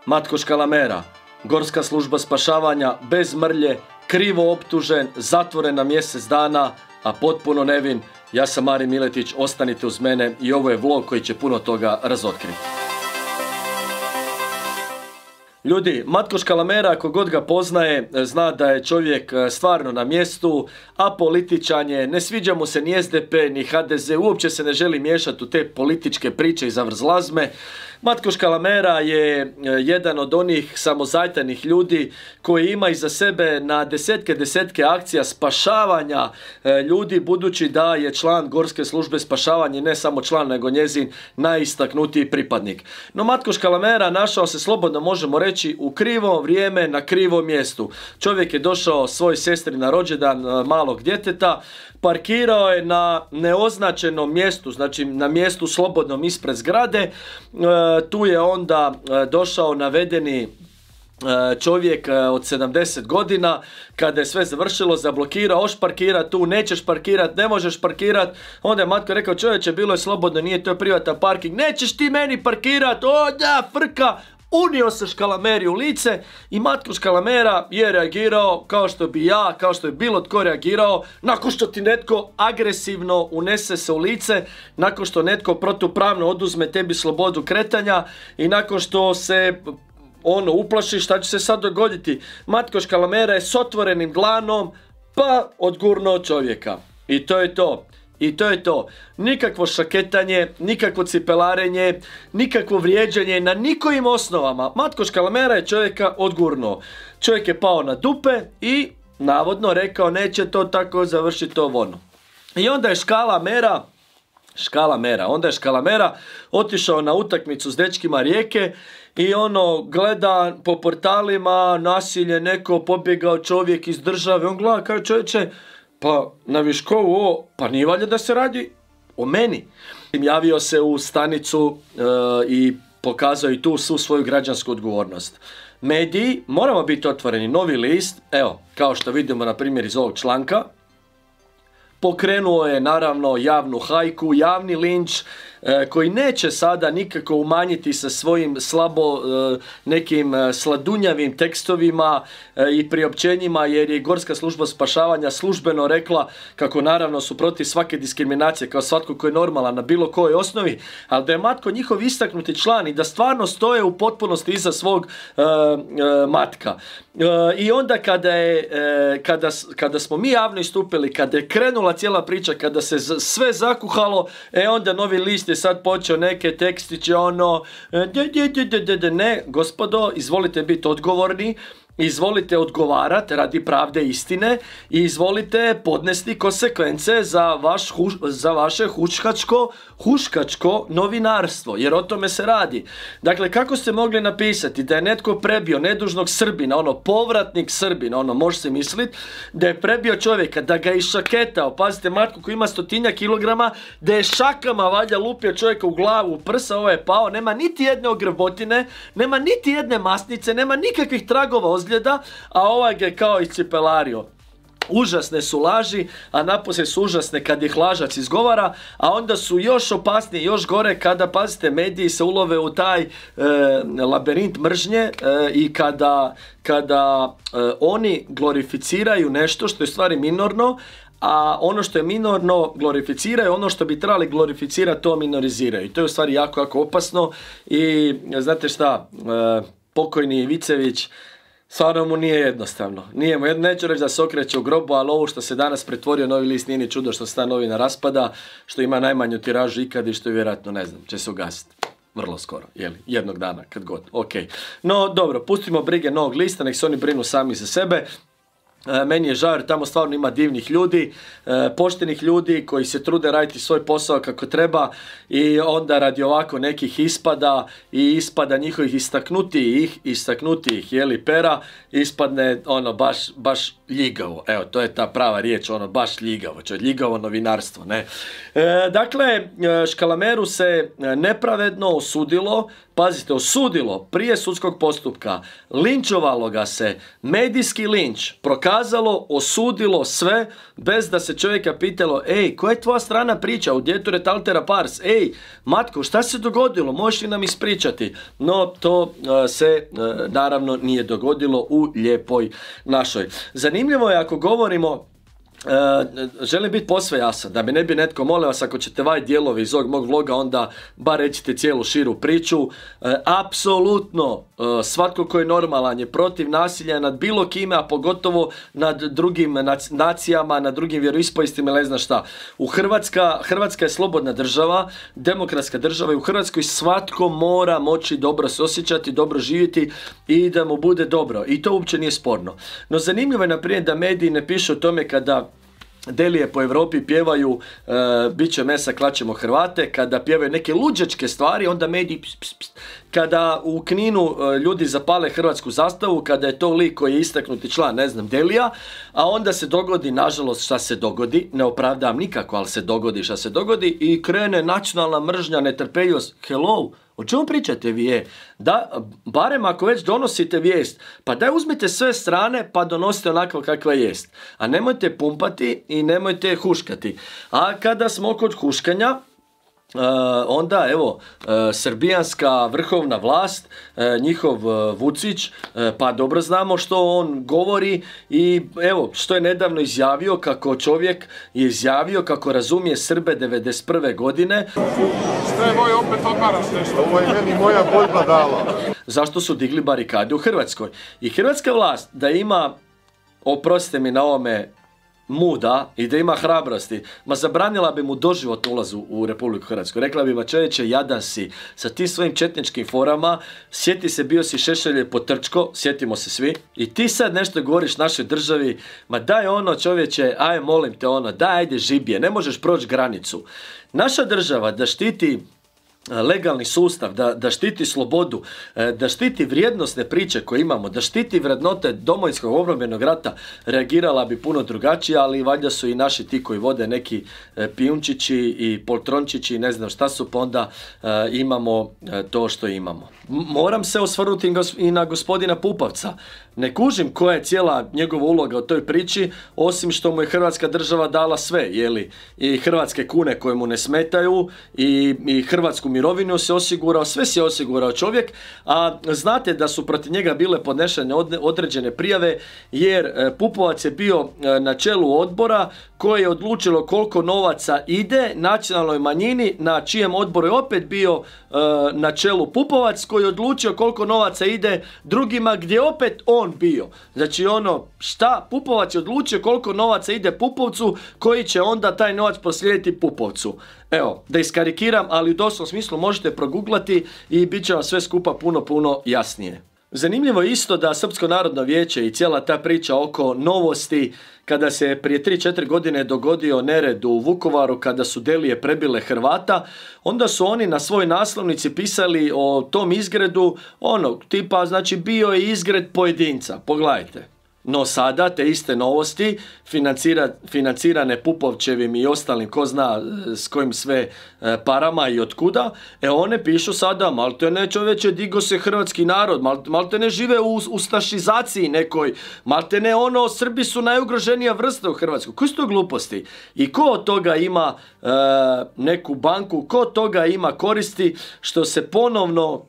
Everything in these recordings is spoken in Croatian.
Matko Škalamera, Gorska služba spašavanja, bez mrlje, krivo optužen, zatvoren na mjesec dana, a potpuno nevin. Ja sam Marin Miletić, ostanite uz mene i ovo je vlog koji će puno toga razotkriti. Ljudi, Matko Škalamera, ako god ga poznaje, zna da je čovjek stvarno na mjestu, a političan je, ne sviđa mu se ni SDP, ni HDZ, uopće se ne želi miješati u te političke priče i zavrzlazme. Matko Škalamera je jedan od onih samozatajnih ljudi koji ima iza sebe na desetke akcija spašavanja ljudi, budući da je član Gorske službe spašavanja, ne samo član, nego njezin najistaknutiji pripadnik. No Matko Škalamera našao se, slobodno možemo reći, u krivo vrijeme na krivom mjestu. Čovjek je došao svoj sestri na rođendan malog djeteta, parkirao je na neoznačenom mjestu, znači na mjestu slobodnom ispred zgrade. Tu je onda došao navedeni čovjek od 70 godina, kada je sve završilo, zablokirao, hoš parkirat tu, nećeš parkirat, ne možeš parkirat. Onda je Matko rekao, čovječe, bilo je slobodno, nije to privatan parking, nećeš ti meni parkirat, o da, frka. Unio se Škalameri u lice i Matko Škalamera je reagirao kao što bi ja, kao što je bilo tko reagirao, nakon što ti netko agresivno unese se u lice, nakon što netko protupravno oduzme tebi slobodu kretanja i nakon što se uplaši, šta će se sad dogoditi. Matko Škalamera je s otvorenim dlanom pa odgurnuo čovjeka. I to je to. I to je to. Nikakvo šaketanje, nikakvo cipelarenje, nikakvo vrijeđanje na nikojim osnovama. Matko Škalamera je čovjeka odgurnuo. Čovjek je pao na dupe i navodno rekao neće to tako završiti ovo ono. I onda je Škalamera otišao na utakmicu s dečkima Rijeke i gleda po portalima nasilje, neko pobjegao čovjek iz države, on gleda kao čovječe, pa na Viškovu pa nije valjda da se radi o meni. Javio se u stanicu i pokazao i tu svu svoju građansku odgovornost. Mediji, moramo biti otvoreni, Novi list, evo, kao što vidimo na primjer iz ovog članka, pokrenuo je naravno javnu hajku, javni linč koji neće sada nikako umanjiti sa svojim nekim sladunjavim tekstovima i priopćenjima, jer je Gorska služba spašavanja službeno rekla kako naravno su protiv svake diskriminacije, kao svatko koji je normalan na bilo kojoj osnovi, ali da je Matko njihov istaknuti član i da stvarno stoje u potpunosti iza svog Matka. I onda kada smo mi javno istupili, kada je krenula cijela priča, kada se sve zakuhalo, onda Novi list je sad počeo neke tekstiće ne, gospodo, izvolite biti odgovorni, izvolite odgovarati radi pravde istine i izvolite podnesti konsekvence za vaše huškačko novinarstvo, jer o tome se radi. Dakle, kako ste mogli napisati da je netko prebio nedužnog Srbina, povratnik Srbina, može se misliti, da je prebio čovjeka, da ga je išaketao, pazite, Matko koji ima 100 kilograma, da je šakama valjda lupio čovjeka u glavu, u prsa, ovo je pao, nema niti jedne ogrbotine, nema niti jedne masnice, nema nikakvih tragova ozljeda, a ovaj ga je kao iscipelario. Užasne su laži, a naposlije su užasne kad ih lažac izgovara, a onda su još opasnije, još gore kada, pazite, mediji se ulove u taj labirint mržnje i kada oni glorificiraju nešto što je stvari minorno, a ono što je minorno glorificiraju, ono što bi trebali glorificirati to minoriziraju. I to je u stvari jako opasno i znate šta, pokojni Vicević, stvarno mu nije jednostavno. Neću reći da se okreće u grobu, ali ovo što se danas pretvorio Novi list nije ni čudo što se ta novina raspada, što ima najmanju tiražu ikad i što je vjerojatno, ne znam, će se ugasiti. Vrlo skoro, jednog dana, kad god, ok. No, dobro, pustimo brige Novog lista, nek se oni brinu sami za sebe. Meni je žao jer tamo stvarno ima divnih ljudi, poštenih ljudi koji se trude raditi svoj posao kako treba i onda radi ovako nekih ispada i ispada njihovih istaknutijih pera, ispadne baš ljigavo. Evo, to je ta prava riječ, baš ljigavo, ljigavo novinarstvo, ne. Dakle, Škalameru se nepravedno osudilo pazite, osudilo prije sudskog postupka, linčovalo ga se, medijski linč, prokazalo, osudilo sve, bez da se čovjeka pitalo, ej, koja je tvoja strana priča, u djeture taltera pars, ej, Matko, šta se dogodilo, možeš li nam ispričati? No, to se naravno nije dogodilo u lijepoj našoj. Zanimljivo je ako govorimo, želim biti posve jasan, da mi ne bi netko, molim vas, ako ćete vaj dijelovi iz ovog mog vloga, onda bar recite cijelu širu priču. Apsolutno svatko koji je normalan je protiv nasilja nad bilo kime, a pogotovo nad drugim nacijama, nad drugim vjeroispovjestima ili ne znam šta. Hrvatska je slobodna država, demokratska država i u Hrvatskoj svatko mora moći dobro se osjećati, dobro živjeti i da mu bude dobro. I to uopće nije sporno. No zanimljivo je, na primjer, da mediji ne pišu o tome kada Delije po Europi pjevaju bit će mesa, klaćemo Hrvate, kada pjevaju neke luđačke stvari, onda mediji kada u Kninu ljudi zapale hrvatsku zastavu, kada je to lik koji je istaknuti član, ne znam, Delija, a onda se dogodi, nažalost, šta se dogodi, ne opravdavam nikako, ali se dogodi šta se dogodi i krene nacionalna mržnja, netrpeljivost. Hello, o čemu pričate vi? Da, barem ako već donosite vijest, pa daj uzmite sve strane pa donosite onako kakva jest. A nemojte pumpati i nemojte huškati. A kada smo kod huškanja, onda evo srbijanska vrhovna vlast, njihov Vučić, pa dobro znamo što on govori i evo što je nedavno izjavio, kako čovjek je izjavio kako razumije Srbe 91. godine. Što je moj opet odmaraš nešto? Ovo je meni moja Bojba dala. Zašto su digli barikade u Hrvatskoj? I hrvatska vlast da ima, oprostite mi na ovome, muda i da ima hrabrosti, ma zabranila bi mu doživotno ulaz u Republiku Hrvatsku. Rekla bi, ma čovječe, jadan si sa tim svojim četničkim forama, sjeti se, bio si Šešelje potrčko, sjetimo se svi, i ti sad nešto govoriš našoj državi, ma daj ono, čovječe, aj molim te ono, daj ajde žibije, ne možeš proći granicu. Naša država da štiti legalni sustav, da štiti slobodu, da štiti vrijednosne priče koje imamo, da štiti vrednote Domovinskog obrambenog rata, reagirala bi puno drugačije, ali valjda su i naši ti koji vode neki pijunčići i poltrončići, ne znam šta su, pa onda imamo to što imamo. Moram se osvrnuti i na gospodina Pupovca. Ne kužim koja je cijela njegova uloga u toj priči, osim što mu je Hrvatska država dala sve, jeli, i hrvatske kune koje mu ne smetaju, i hrvatsku mirovinu se osigurao, sve se osigurao čovjek, a znate da su protiv njega bile podnešene određene prijave, jer Pupovac je bio na čelu odbora koje je odlučilo koliko novaca ide nacionalnoj manjini, na čijem odboru je opet bio na čelu Pupovac, koji je odlučio koliko novaca ide drugima, gdje opet on bio. Znači ono, šta? Pupovac je odlučio koliko novaca ide Pupovcu, koji će onda taj novac proslijediti Pupovcu. Evo, da iskarikiram, ali u doslovnom smislu možete proguglati i bit će vam sve skupa puno jasnije. Zanimljivo je isto da Srpsko narodno vijeće i cijela ta priča oko novosti, kada se prije 3-4 godine dogodio nered u Vukovaru, kada su Delije prebile Hrvata, onda su oni na svojoj naslovnici pisali o tom izgredu, ono, tipa, znači bio je izgred pojedinca, pogledajte. No sada te iste novosti, financirane Pupovčevim i ostalim, ko zna s kojim sve parama i otkuda, one pišu sada, malte ne čovječe, digo se hrvatski narod, malte ne žive u ustašizaciji nekoj, malte ne ono, Srbi su najugroženija vrsta u Hrvatskoj. Koje su to gluposti? I ko od toga ima neku banku, ko od toga ima koristi, što se ponovno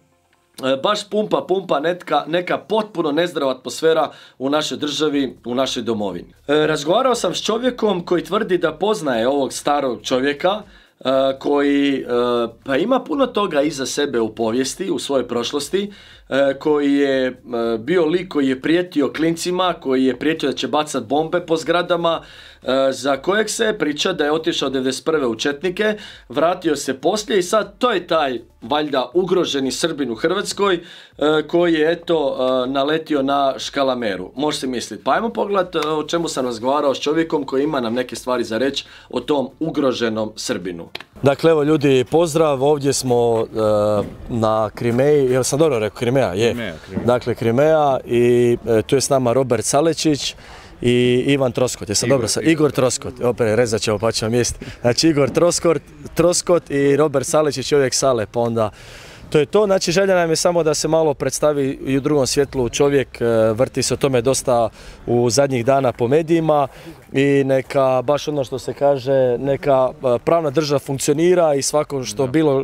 baš pumpa neka potpuno nezdrava atmosfera u našoj državi, u našoj domovini. Razgovarao sam s čovjekom koji tvrdi da poznaje ovog starog čovjeka, koji pa ima puno toga iza sebe u povijesti, u svojoj prošlosti, koji je bio lik koji je prijetio klincima, koji je prijetio da će bacati bombe po zgradama, za kojeg se priča da je otišao 1991. u četnike, vratio se poslije i sad to je taj valjda ugroženi Srbin u Hrvatskoj koji je eto naletio na škalameru. Može se misliti. Pa ajmo pogledati o čemu sam razgovarao s čovjekom koji ima nam neke stvari za reći o tom ugroženom Srbinu. Dakle, evo ljudi, pozdrav, ovdje smo na Krimeji, jel sam dobro rekao, Krimeja? Je. Krimeja. Dakle, Krimeja i tu je s nama Robert Salečić i Ivan Troskot, jesam dobro sam? Igor Troskot, opet rezat ćemo pa ćemo mjesti. Znači Igor Troskot i Robert Salečić, čovjek Sale, pa onda To je to, znači želja nam je samo da se malo predstavi i u drugom svjetlu čovjek, vrti se o tome dosta u zadnjih dana po medijima i neka, baš ono što se kaže, neka pravna država funkcionira i svako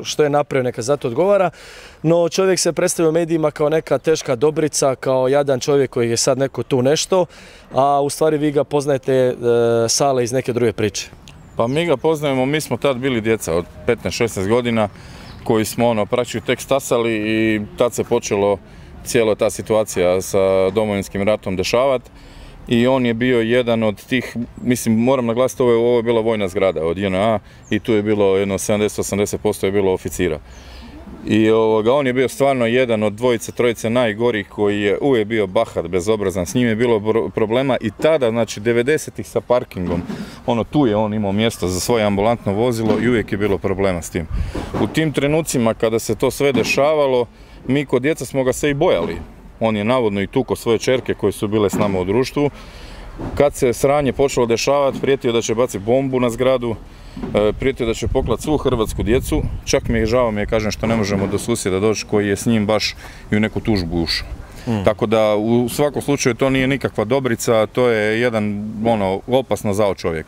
što je napravio neka zato odgovara, no čovjek se predstavio u medijima kao neka teška dobrica, kao jadan čovjek koji je sad neko tu nešto, a u stvari vi ga poznajete Sale iz neke druge priče. Pa mi ga poznajemo, mi smo tad bili djeca od 15-16 godina koji smo praktički tek stasali i tad se počelo cijela ta situacija sa Domovinskim ratom dešavati i on je bio jedan od tih, mislim moram naglasiti, ovo je bila vojna zgrada od JNA i tu je bilo jedno 70-80% je bilo oficira. I on je bio stvarno jedan od dvojice, trojice najgorih koji je uvijek bio bahat, bezobrazan, s njim je bilo problema i tada, znači 90-ih sa parkingom, tu je on imao mjesto za svoje ambulantno vozilo i uvijek je bilo problema s tim. U tim trenucima kada se to sve dešavalo, mi kod djeca smo ga se i bojali. On je navodno i tukao svoje ćerke koje su bile s nama u društvu. Kad se sranje počelo dešavati, prijetio da će baciti bombu na zgradu, prijetio da će poklati svu hrvatsku djecu, čak mi je žao kažem što ne možemo do susjeda doći koji je s njim baš i u neku tužbu ušao. Tako da u svakom slučaju to nije nikakva dobrica, to je jedan opasno zao čovjek.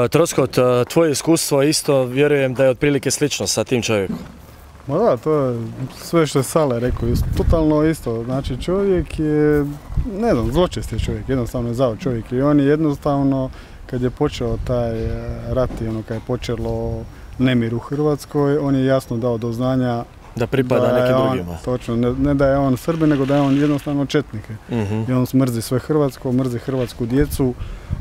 Troskot, tvoje iskustvo isto vjerujem da je otprilike slično sa tim čovjekom. Ma da, to je sve što je Sale rekao, totalno isto, znači čovjek je, ne znam, zločest je čovjek, jednostavno je zao čovjek i on je jednostavno, kad je počeo taj rat i kad je počelo nemir u Hrvatskoj, on je jasno dao do znanja da pripada nekim drugima. Točno, ne da je on Srbin, nego da je on jednostavno četnik. I on mrzi sve hrvatsko, mrzi hrvatsku djecu.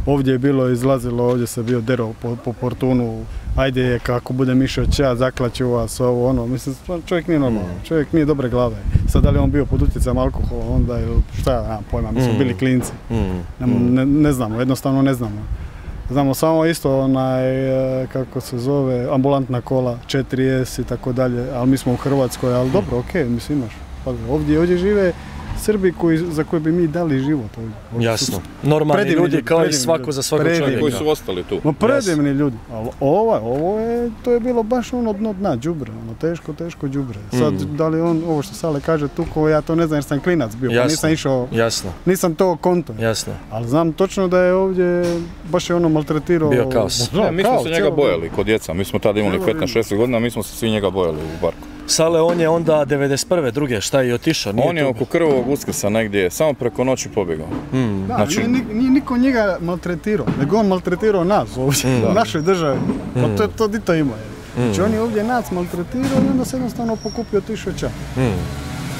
Ovdje je bilo izlazilo, ovdje se bio derao po portunu, ajde je kako bude mišao ćea, zaklaću vas, ovo ono. Mislim, čovjek nije normalan, čovjek nije dobre glave. Sad da li on bio pod utjecajem alkohola, onda ili šta ja nemam pojma, mi smo bili klinci. Ne znamo, jednostavno ne znamo. Znamo samo isto kako se zove, ambulantna kola, 4S i tako dalje, ali mi smo u Hrvatskoj, ali dobro, okej, mislim imaš. Ovdje žive Srbi za koje bi mi dali život. Jasno. Normalni ljudi kao i svako za svakog čovjeka. Koji su ostali tu. Predivni ljudi. Ali to je bilo baš dno dna, đubre, teško đubre. Sad, da li on, ovo što Sale kaže, tuko, ja to ne znam jer sam klinac bio, pa nisam išao, nisam to konto. Jasno. Ali znam točno da je ovdje baš je maltretirao. Bio kaos. Mi smo se njega bojali kod djeca, mi smo tada imali 15-16 godina, mi smo se svi njega bojali u parku. Sale, on je onda 91. druge, šta je otišao? On je oko Krvovog Uskrsa negdje, samo preko noći pobjegao. Da, nije niko njega maltretirao, nego on maltretirao nas ovdje, u našoj državi. Pa to di to ima. Znači on je ovdje nas maltretirao i onda se jednostavno pokupio otišao čak.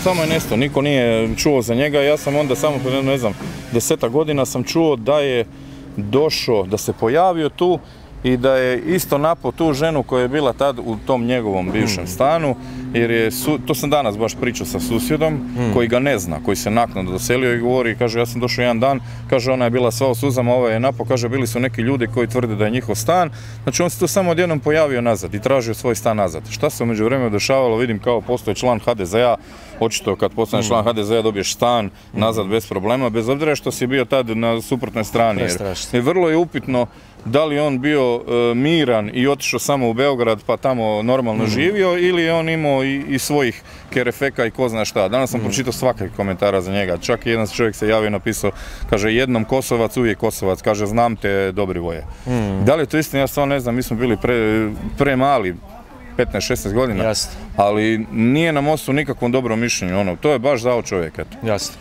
Samo je nestao, niko nije čuo za njega, ja sam onda samo, ne znam, 10 godina sam čuo da je došao, da se pojavio tu i da je isto napao tu ženu koja je bila tad u tom njegovom bivšem stanu, jer to sam danas baš pričao sa susjedom koji ga ne zna, koji se naknadno doselio i govori, kaže ja sam došao jedan dan, kaže ona je bila sva u suzama, ovaj je napao, kaže bili su neki ljudi koji tvrde da je njihov stan, znači on se tu samo odjednom pojavio nazad i tražio svoj stan nazad. Šta se u međuvremenu dešavalo, vidim kao postoje član HDZ-a, očito kad postaneš član HDZ-a dobiješ stan nazad bez problema, bez obzira što si bio tad na suprotnoj strani, jer vrlo je upitno da li on bio miran i otišao samo u Beograd pa tamo normalno živio ili je on imao i svojih kerefeka i ko zna šta. Danas sam pročitao svakih komentara za njega. Čak i jedan čovjek se javio i napisao, kaže jednom Kosovac, uvijek Kosovac, kaže znam te dobri voje. Da li je to istina, ja stvarno ne znam, mi smo bili premali, 15-16 godina, jasno. Ali nije na mostu nikakvom dobrom mišljenju, to je baš zao čovjek, eto. Jasno.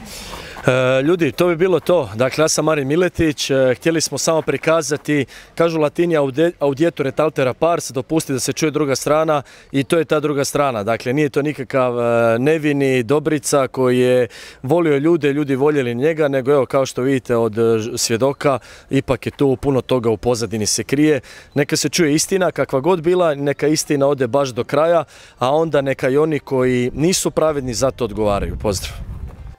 Ljudi, to bi bilo to. Dakle, ja sam Marin Miletić, htjeli smo samo prikazati, kažu Latini audietore taltera pars, dopusti da se čuje druga strana i to je ta druga strana. Dakle, nije to nikakav nevini dobrica koji je volio ljude, ljudi voljeli njega, nego evo, kao što vidite od svjedoka, ipak je tu puno toga u pozadini se krije. Neka se čuje istina, kakva god bila, neka istina ode baš do kraja, a onda neka i oni koji nisu pravedni za to odgovaraju. Pozdrav!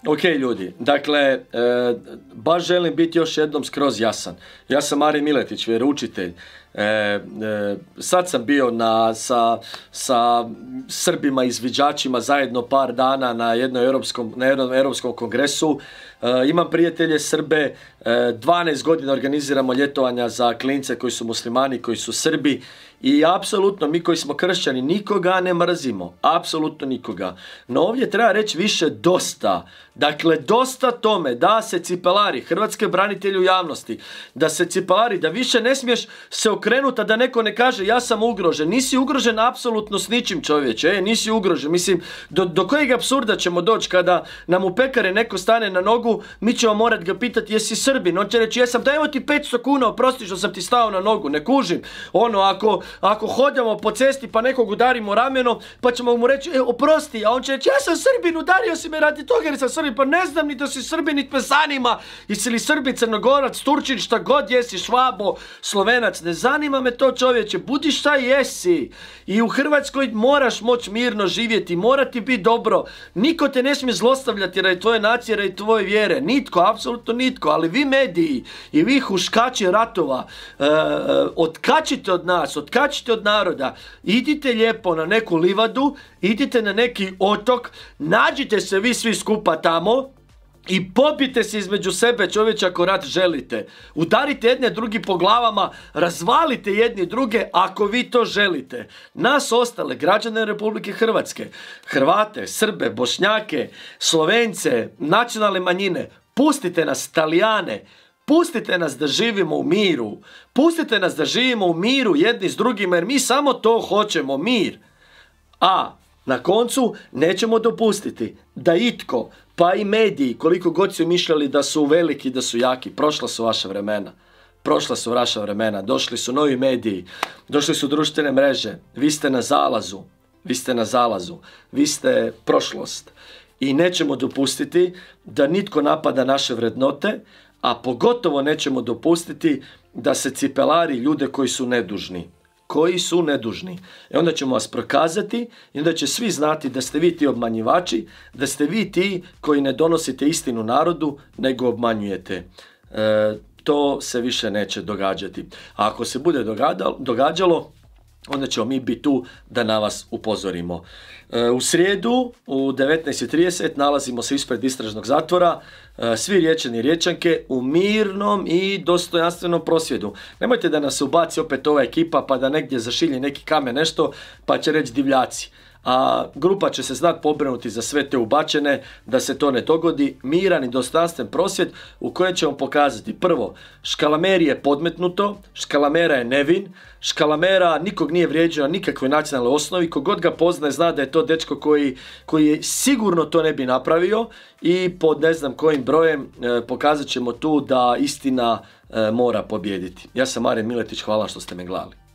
Ok ljudi, dakle, baš želim biti još jednom skroz jasan. Ja sam Marin Miletić, vjeroučitelj. Sad sam bio sa Srbima izviđačima zajedno par dana na jednom europskom kongresu. Imam prijatelje Srbe, 12 godina organiziramo ljetovanja za klince koji su muslimani, koji su Srbi I apsolutno mi koji smo kršćani nikoga ne mrzimo, apsolutno nikoga. No ovdje treba reći više dosta. Dakle, dosta tome da se cipelari, hrvatske branitelji u javnosti, da se cipelari, da više ne smiješ se okrenuti, da neko ne kaže ja sam ugrožen. Nisi ugrožen apsolutno s ničim, čovječe, nisi ugrožen. Mislim, do kojeg apsurda ćemo doći kada nam u pekare neko stane na nogu, mi ćemo morati ga pitati jesi Srbin, on će reći jesam, da evo ti 500 kuna, oprosti što sam ti stao na nogu, ne kužim. Ono, ako hodamo po cesti pa nekog udarimo rameno, pa ćemo mu reći oprosti, a on će reći ja sam Srbin, udario si me radi toga jer sam Srbin, pa ne znam ni da si Srbin, niti me zanima, jesi li Srbin, Crnogorac, Turčin, šta god jesi, Švabo, Slovenac, ne zanima me to, čovječe, budi šta jesi. I u Hrvatskoj moraš moći mirno živjeti, mora ti biti dobro, niko te ne smije zlostavljati radi tvoje nacije, radi tvoje vjere, nitko, apsolutno nitko, ali vi mediji i vi huškači ratova, otkačite od nas, otkačite od naroda, idite lijepo na neku livadu, idite na neki otok, nađite se vi svi skupa tamo i pobijte se između sebe, čovječe, ako rat želite. Udarite jedne drugi po glavama, razvalite jedni druge ako vi to želite. Nas ostale, građane Republike Hrvatske, Hrvate, Srbe, Bošnjake, Slovence, nacionalne manjine, pustite nas, Talijane, pustite nas da živimo u miru. Pustite nas da živimo u miru jedni s drugima jer mi samo to hoćemo, mir. A na koncu nećemo dopustiti da itko, pa i mediji, koliko god su mišljali da su veliki, da su jaki, prošla su vaša vremena. Prošla su vaša vremena, došli su novi mediji, došli su društvene mreže, vi ste na zalazu, vi ste prošlost. I nećemo dopustiti da nitko napada naše vrednote, a pogotovo nećemo dopustiti da se cipelari ljude koji su nedužni. I onda ćemo vas prokazati i onda će svi znati da ste vi ti obmanjivači, da ste vi ti koji ne donosite istinu narodu, nego obmanjujete. To se više neće događati. A ako se bude događalo, onda ćemo mi biti tu da na vas upozorimo. U srijedu u 19:30 nalazimo se ispred istražnog zatvora, svi Riječani i Riječanke u mirnom i dostojanstvenom prosvjedu. Nemojte da nas ubaci opet ova ekipa pa da negdje zašilje neki kamen nešto pa će reći divljaci. A grupa će se znati pobrinuti za sve te ubačene da se to ne dogodi. Miran i dostojanstven prosvjed u kojem ćemo pokazati prvo, Škalameri je podmetnuto, Škalamera je nevin, Škalamera nikog nije vrijeđao na nikakvoj nacionalnoj osnovi, kogod ga poznaje zna da je to dečko koji sigurno to ne bi napravio i pod ne znam kojim brojem pokazat ćemo tu da istina mora pobijediti. Ja sam Marin Miletić, hvala što ste me gledali.